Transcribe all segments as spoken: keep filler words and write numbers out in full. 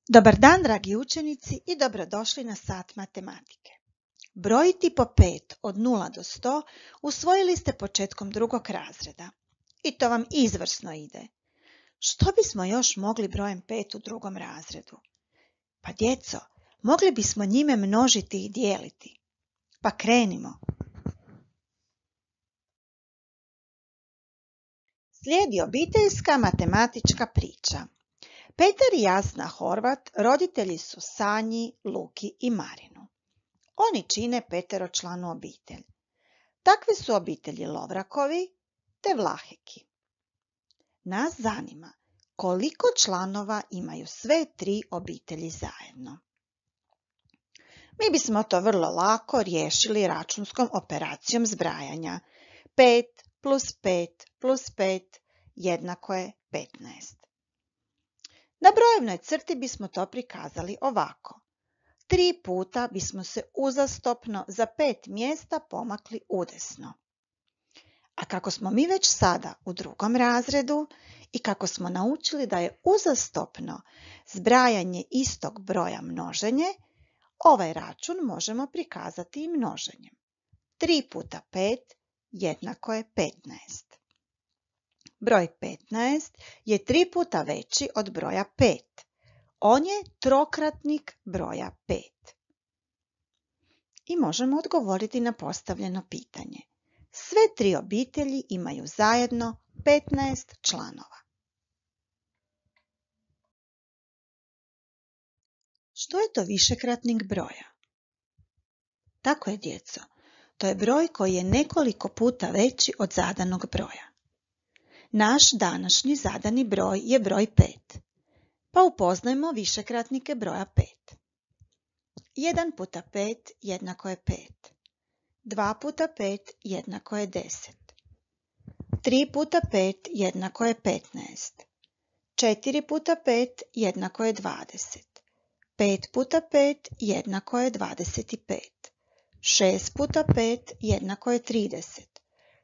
Dobar dan, dragi učenici, i dobrodošli na sat matematike. Brojiti po pet od nula do sto usvojili ste početkom drugog razreda. I to vam izvrsno ide. Što bismo još mogli brojem pet u drugom razredu? Pa djeco, mogli bismo njime množiti i dijeliti. Pa krenimo. Slijedi obiteljska matematička priča. Petar i Jasna Horvat roditelji su Sanji, Luki i Marinu. Oni čine peteročlanu obitelj. Takve su obitelji Lovrakovi te Vlaheki. Nas zanima koliko članova imaju sve tri obitelji zajedno. Mi bismo to vrlo lako riješili računskom operacijom zbrajanja. pet plus pet plus pet jednako je petnaest. Na brojevnoj crti bismo to prikazali ovako. Tri puta bismo se uzastopno za pet mjesta pomakli udesno. A kako smo mi već sada u drugom razredu i kako smo naučili da je uzastopno zbrajanje istog broja množenje, ovaj račun možemo prikazati i množenjem. tri puta pet jednako je petnaest. Broj petnaest je tri puta veći od broja pet. On je trokratnik broja pet. I možemo odgovoriti na postavljeno pitanje. Sve tri obitelji imaju zajedno petnaest članova. Što je to višekratnik broja? Tako je, djeco. To je broj koji je nekoliko puta veći od zadanog broja. Naš današnji zadani broj je broj pet. Pa upoznajmo višekratnike broja pet. jedan puta pet jednako je pet. dva puta pet jednako je deset. tri puta pet jednako je petnaest. četiri puta pet jednako je dvadeset. pet puta pet jednako je dvadeset pet. šest puta pet jednako je trideset.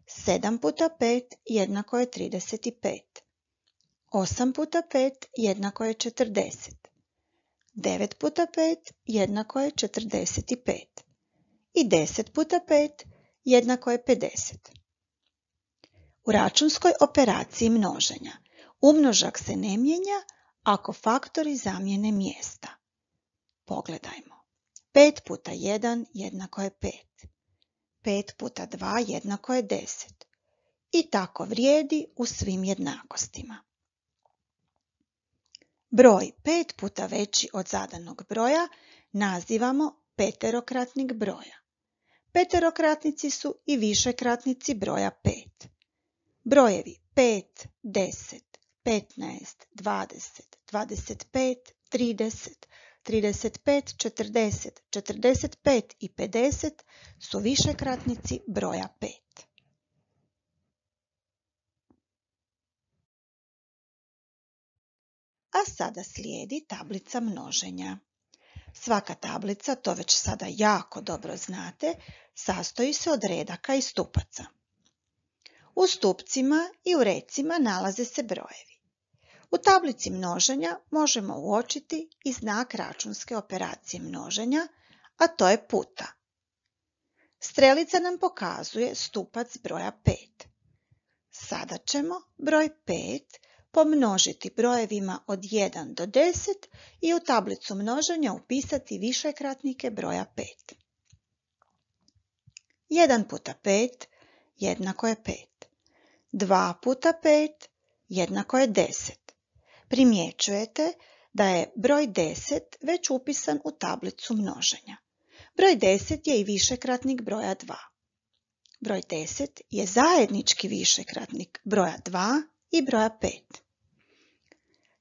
sedam puta pet jednako je trideset pet. osam puta pet jednako je četrdeset. devet puta pet jednako je četrdeset pet. I deset puta pet jednako je pedeset. U računskoj operaciji množenja umnožak se ne mijenja ako faktori zamijene mjesta. Pogledajmo. pet puta jedan jednako je pet. pet puta dva jednako je deset. I tako vrijedi u svim jednakostima. Broj pet puta veći od zadanog broja nazivamo peterokratnik broja. Peterokratnici su i višekratnici broja pet. Brojevi pet, deset, petnaest, dvadeset, dvadeset pet, trideset, trideset pet, četrdeset, četrdeset pet i pedeset su višekratnici broja pet. A sada slijedi tablica množenja. Svaka tablica, to već sada jako dobro znate, sastoji se od redaka i stupaca. U stupcima i u recima nalaze se brojevi. U tablici množenja možemo uočiti i znak računske operacije množenja, a to je puta. Strelica nam pokazuje stupac broja pet. Sada ćemo broj pet pomnožiti brojevima od jedan do deset i u tablicu množenja upisati višekratnike broja pet. jedan puta pet jednako je pet. dva puta pet jednako je deset. Primjećujete da je broj deset već upisan u tablicu množenja. Broj deset je i višekratnik broja dva. Broj deset je zajednički višekratnik broja dva i broja pet.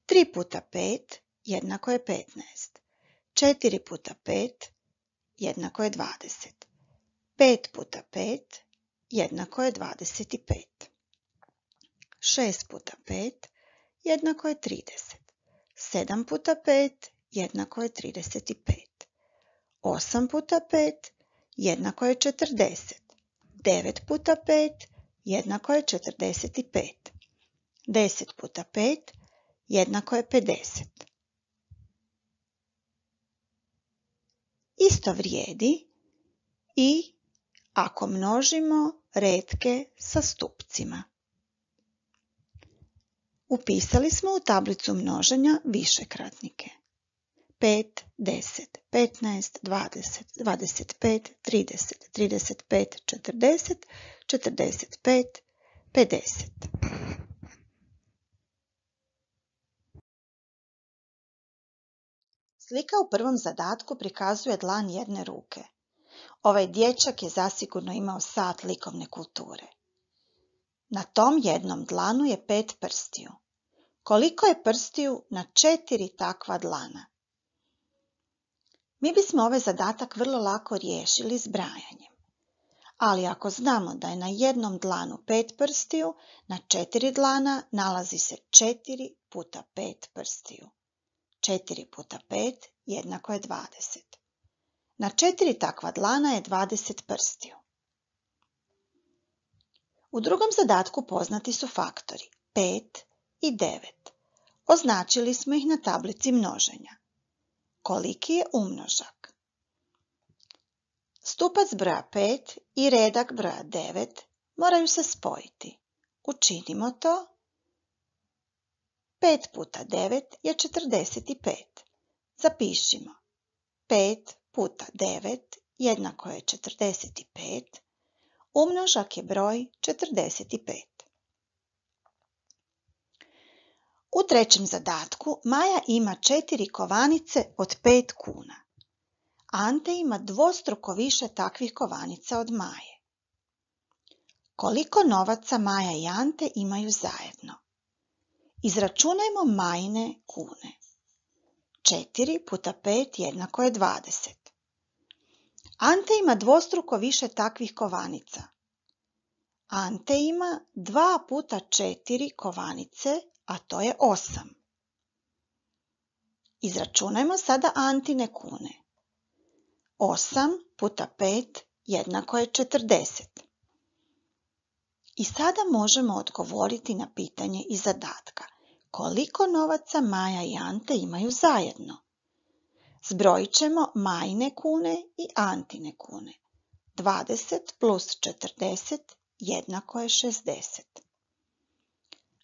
tri puta pet jednako je petnaest. četiri puta pet jednako je dvadeset. pet puta pet jednako je dvadeset pet. šest puta pet jednako je trideset. sedam puta pet jednako je trideset pet. osam puta pet jednako je četrdeset. devet puta pet jednako je četrdeset pet. deset puta pet jednako je pedeset. isto vrijedi i ako množimo retke sa stupcima. Upisali smo u tablicu množenja višekratnike. pet, deset, petnaest, dvadeset, dvadeset pet, trideset, trideset pet, četrdeset, četrdeset pet, pedeset. Slika u prvom zadatku prikazuje dlan jedne ruke. Ovaj dječak je zasigurno imao sat likovne kulture. Na tom jednom dlanu je pet prstiju. Koliko je prstiju na četiri takva dlana? Mi bismo ovaj zadatak vrlo lako riješili zbrajanjem. Ali ako znamo da je na jednom dlanu pet prstiju, na četiri dlana nalazi se četiri puta pet prstiju. četiri puta pet jednako je dvadeset. Na četiri takva dlana je dvadeset prstiju. U drugom zadatku poznati su faktori pet i devet. Označili smo ih na tablici množenja. Koliki je umnožak? Stupac broja pet i redak broja devet moraju se spojiti. Učinimo to. pet puta devet je četrdeset pet. Zapišimo. pet puta devet jednako je četrdeset pet. Umnožak je broj četrdeset pet. U trećem zadatku Maja ima četiri kovanice od pet kuna. Ante ima dvostruko više takvih kovanica od Maje. Koliko novaca Maja i Ante imaju zajedno? Izračunajmo Majine kune. četiri puta pet jednako je dvadeset. Ante ima dvostruko više takvih kovanica. Ante ima dva puta četiri kovanice, a to je osam. Izračunajmo sada Antine kune. osam puta pet jednako je četrdeset. I sada možemo odgovoriti na pitanje iz zadatka. Koliko novaca Maja i Ante imaju zajedno? Zbrojit ćemo Majine kune i Antine kune. dvadeset plus četrdeset jednako je šezdeset.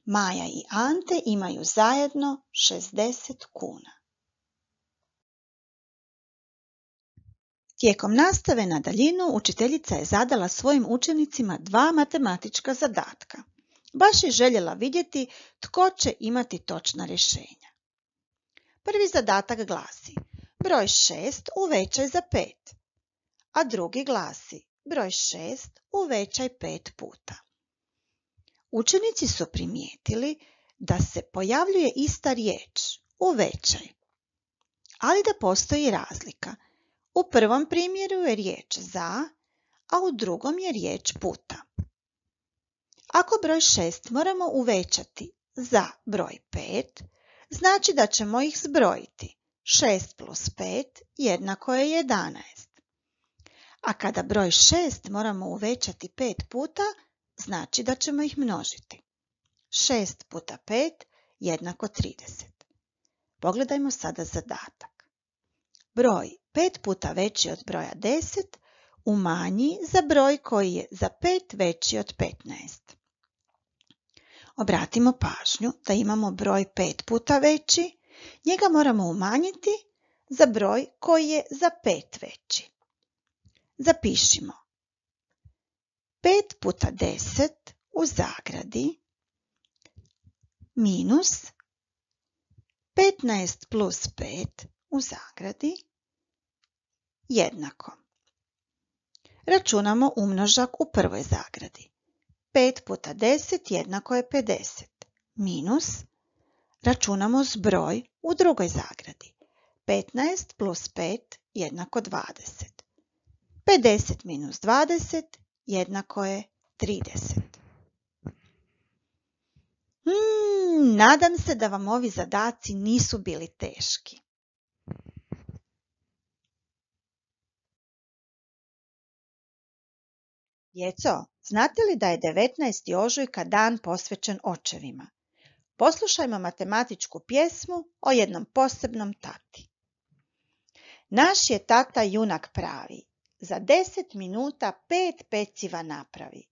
Maja i Ante imaju zajedno šezdeset kuna. Tijekom nastave na daljinu učiteljica je zadala svojim učenicima dva matematička zadatka. Baš je željela vidjeti tko će imati točna rješenja. Prvi zadatak glasi: broj šest uvećaj za pet, a drugi glasi: broj šest uvećaj pet puta. Učenici su primijetili da se pojavljuje ista riječ, uvećaj, ali da postoji razlika. U prvom primjeru je riječ za, a u drugom je riječ puta. Ako broj šest moramo uvećati za broj pet, znači da ćemo ih zbrojiti. šest plus pet jednako je jedanaest. A kada broj šest moramo uvećati pet puta, znači da ćemo ih množiti. šest puta pet jednako trideset. Pogledajmo sada zadatak. Broj pet puta veći od broja deset umanji za broj koji je za pet veći od petnaest. Obratimo pažnju da imamo broj pet puta veći, njega moramo umanjiti za broj koji je za pet veći. Zapišimo. pet puta deset u zagradi minus petnaest plus pet u zagradi jednako. Računamo umnožak u prvoj zagradi. pet puta deset jednako je pedeset. Minus, računamo zbroj u drugoj zagradi. petnaest plus pet jednako dvadeset. pedeset minus dvadeset jednako je trideset. Hmm, nadam se da vam ovi zadaci nisu bili teški. Djeco, znate li da je devetnaesti ožujka dan posvećen očevima? Poslušajmo matematičku pjesmu o jednom posebnom tati. Naš je tata junak pravi, za deset minuta pet peciva napravi.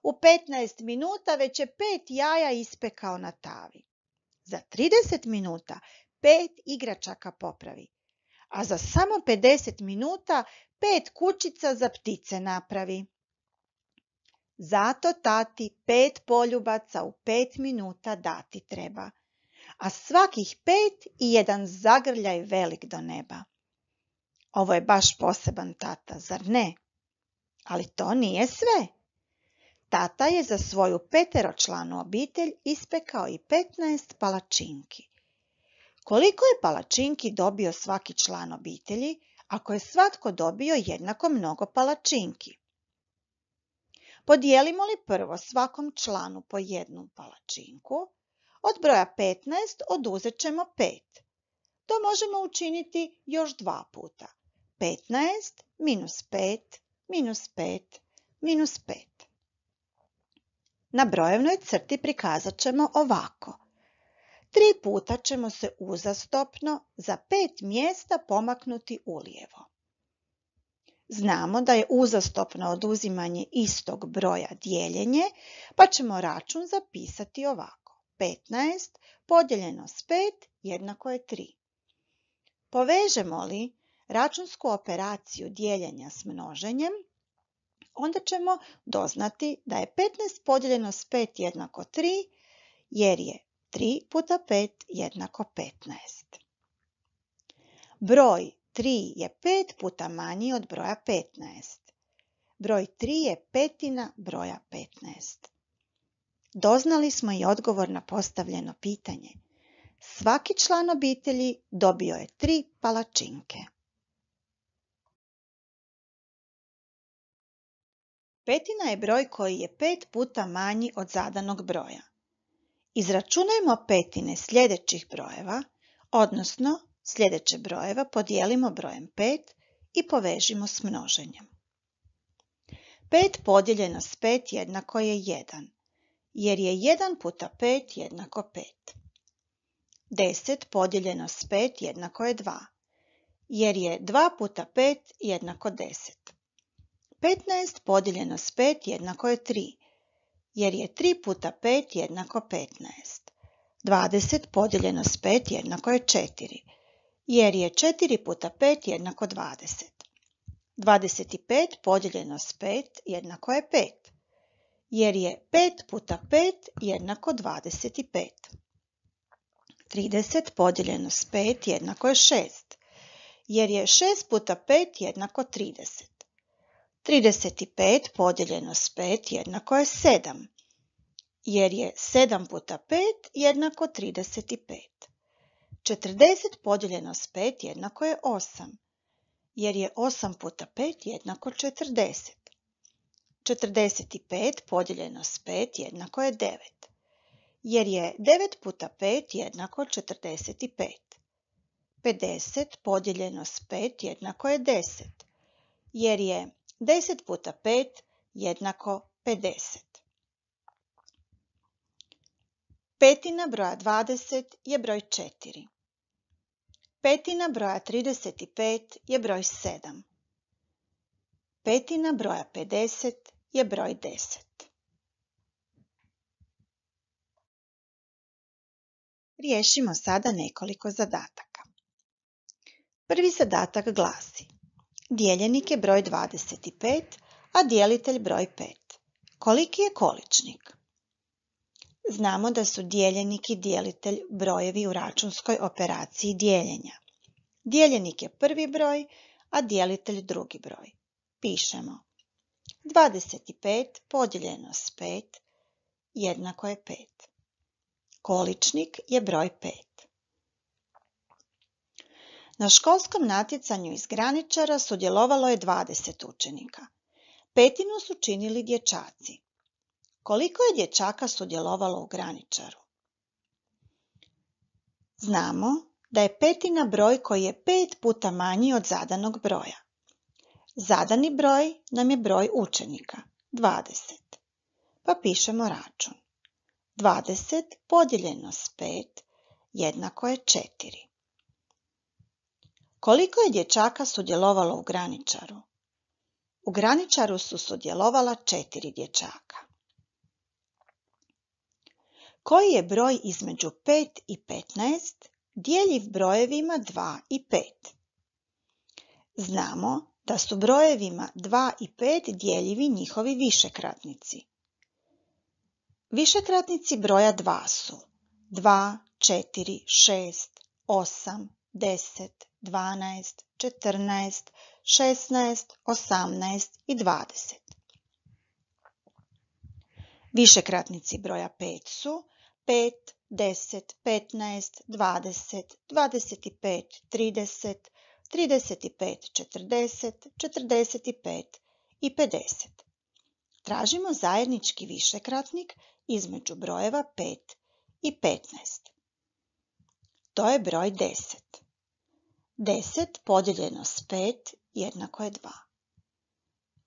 U petnaest minuta već je pet jaja ispekao na tavi. Za trideset minuta pet igračaka popravi, a za samo pedeset minuta pet kućica za ptice napravi. Zato tati pet poljubaca u pet minuta dati treba, a svakih pet i jedan zagrljaj velik do neba. Ovo je baš poseban tata, zar ne? Ali to nije sve. Tata je za svoju peteročlanu obitelj ispekao i petnaest palačinki. Koliko je palačinki dobio svaki član obitelji, ako je svatko dobio jednako mnogo palačinki? Podijelimo li prvo svakom članu po jednu palačinku, od broja petnaest oduzet ćemo pet. To možemo učiniti još dva puta. petnaest minus pet minus pet minus pet. Na brojevnoj crti prikazat ćemo ovako. Tri puta ćemo se uzastopno za pet mjesta pomaknuti ulijevo. Znamo da je uzastopno oduzimanje istog broja dijeljenje, pa ćemo račun zapisati ovako. petnaest podijeljeno s pet jednako je tri. Povežemo li računsku operaciju dijeljenja s množenjem, onda ćemo doznati da je petnaest podijeljeno s pet jednako tri, jer je tri puta pet jednako petnaest. Broj tri je pet puta manji od broja petnaest. Broj tri je petina broja petnaest. Doznali smo i odgovor na postavljeno pitanje. Svaki član obitelji dobio je tri palačinke. Petina je broj koji je pet puta manji od zadanog broja. Izračunajmo petine sljedećih brojeva, odnosno sljedeće brojeva podijelimo brojem pet i povežimo s množenjem. pet podijeljeno s pet jednako je jedan, jer je jedan puta pet jednako pet. deset podijeljeno s pet jednako je dva, jer je dva puta pet jednako deset. petnaest podijeljeno s pet jednako je tri, jer je tri puta pet jednako petnaest. dvadeset podijeljeno s pet jednako je četiri, jer je četiri puta pet jednako dvadeset. dvadeset pet podijeljeno s pet jednako je pet, jer je pet puta pet jednako dvadeset pet. trideset podijeljeno s pet jednako je šest, jer je šest puta pet jednako trideset. trideset pet podijeljeno s pet jednako je sedam, jer je sedam puta pet jednako trideset pet. četrdeset podijeljeno s pet jednako je osam, jer je osam puta pet jednako četrdeset. četrdeset pet podijeljeno s pet jednako je devet, jer je devet puta pet jednako četrdeset pet. pedeset podijeljeno s pet jednako je deset, jer je deset puta pet jednako pedeset. Petina broja dvadeset je broj četiri. Petina broja trideset pet je broj sedam. Petina broja pedeset je broj deset. Riješimo sada nekoliko zadataka. Prvi zadatak glasi: dijeljenik je broj dvadeset pet, a dijelitelj broj pet. Koliki je količnik? Znamo da su dijeljenik i dijelitelj brojevi u računskoj operaciji dijeljenja. Dijeljenik je prvi broj, a dijelitelj drugi broj. Pišemo: dvadeset pet podijeljeno s pet jednako je pet. Količnik je broj pet. Na školskom natjecanju iz graničara sudjelovalo je dvadeset učenika. Petinu su činili dječaci. Koliko je dječaka sudjelovalo u graničaru? Znamo da je petina broj koji je pet puta manji od zadanog broja. Zadani broj nam je broj učenika, dvadeset. Pa pišemo račun. dvadeset podijeljeno s pet jednako je četiri. Koliko je dječaka sudjelovalo u graničaru? U graničaru su sudjelovala četiri dječaka. Koji je broj između pet i petnaest djeljiv brojevima dva i pet? Znamo da su brojevima dva i pet djeljivi njihovi višekratnici. Višekratnici broja dva su dva, četiri, šest, osam, deset, dvanaest, četrnaest, šesnaest, osamnaest i dvadeset. Višekratnici broja pet su pet, deset, petnaest, dvadeset, dvadeset pet, trideset, trideset pet, četrdeset, četrdeset pet i pedeset. Tražimo zajednički višekratnik između brojeva pet i petnaest. To je broj deset. deset podijeljeno s pet jednako je dva.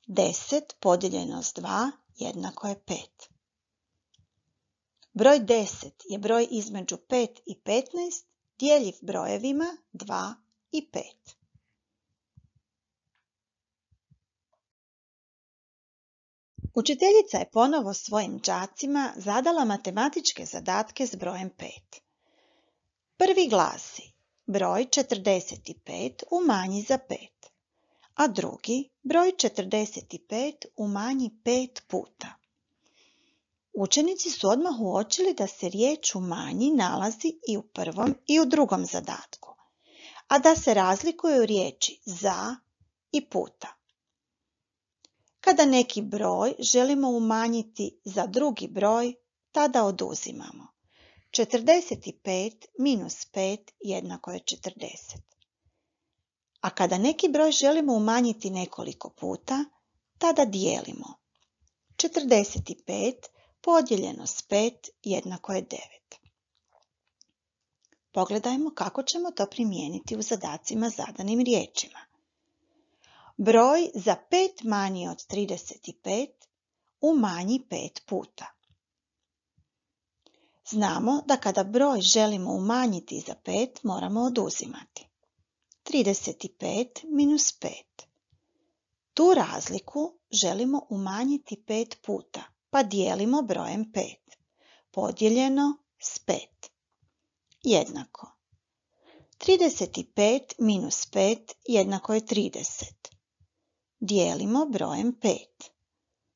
deset podijeljeno s dva jednako je pet. Broj deset je broj između pet i petnaest djeljiv brojevima dva i pet. Učiteljica je ponovo svojim đacima zadala matematičke zadatke s brojem pet. Prvi glasi: broj četrdeset pet umanji za pet, a drugi broj četrdeset pet umanji pet puta. Učenici su odmah uočili da se riječ umanji nalazi i u prvom i u drugom zadatku, a da se razlikuju riječi za i puta. Kada neki broj želimo umanjiti za drugi broj, tada oduzimamo. četrdeset pet minus pet jednako je četrdeset. A kada neki broj želimo umanjiti nekoliko puta, tada dijelimo. četrdeset pet podijeljeno s pet jednako je devet. Pogledajmo kako ćemo to primijeniti u zadacima zadanim riječima. Broj za pet manji od trideset pet umanji pet puta. Znamo da kada broj želimo umanjiti za pet, moramo oduzimati. trideset pet minus pet. Tu razliku želimo umanjiti pet puta, pa dijelimo brojem pet. Podijeljeno s pet. Jednako. trideset pet minus pet jednako je trideset. Dijelimo brojem pet.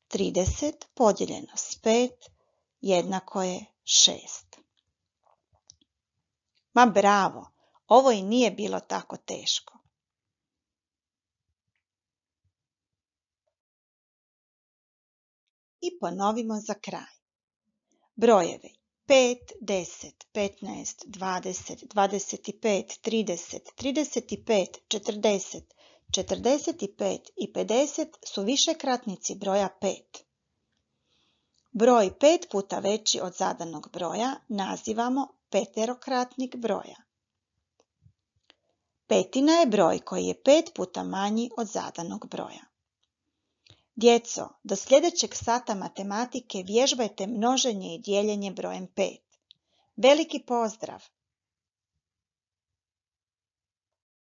trideset podijeljeno s pet jednako je šest. Ma bravo, ovo i nije bilo tako teško. I ponovimo za kraj. Brojevi pet, deset, petnaest, dvadeset, dvadeset pet, trideset, trideset pet, četrdeset, četrdeset pet i pedeset su višekratnici broja pet. Broj pet puta veći od zadanog broja nazivamo peterokratnik broja. Petina je broj koji je pet puta manji od zadanog broja. Djeco, do sljedećeg sata matematike vježbajte množenje i dijeljenje brojem pet. Veliki pozdrav!